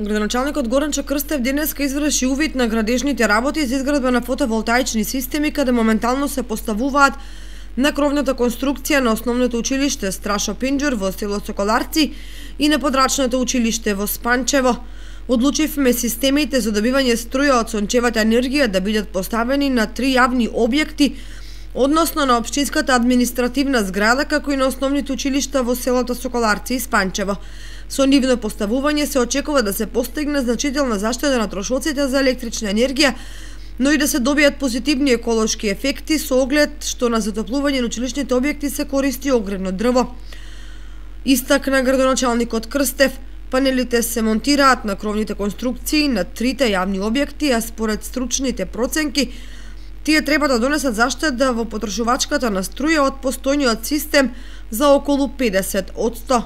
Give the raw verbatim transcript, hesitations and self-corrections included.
Градоначалникот Горанчо Крстев денеска изврши увид на градежните работи за изградба на фотоволтаични системи, каде моментално се поставуваат на кровната конструкција на основното училиште Страшо Пинџур во село Соколарци и на подрачното училиште во Спанчево. Одлучивме системите за добивање струја од сончевата енергија да бидат поставени на три јавни објекти, односно на општинската административна зграда, како и на основните училишта во селото Соколарци и Спанчево. Со нивно поставување се очекува да се постигне значителна заштеда на трошоците за електрична енергија, но и да се добијат позитивни еколошки ефекти со оглед што на затоплување на училишните објекти се користи огревно дрво. Истакна градоначалникот Крстев, панелите се монтираат на кровните конструкции на трите јавни објекти, а според стручните проценки, тие треба да донесат заштеда во потрошувачката на струја од постојниот систем за околу педесет одсто.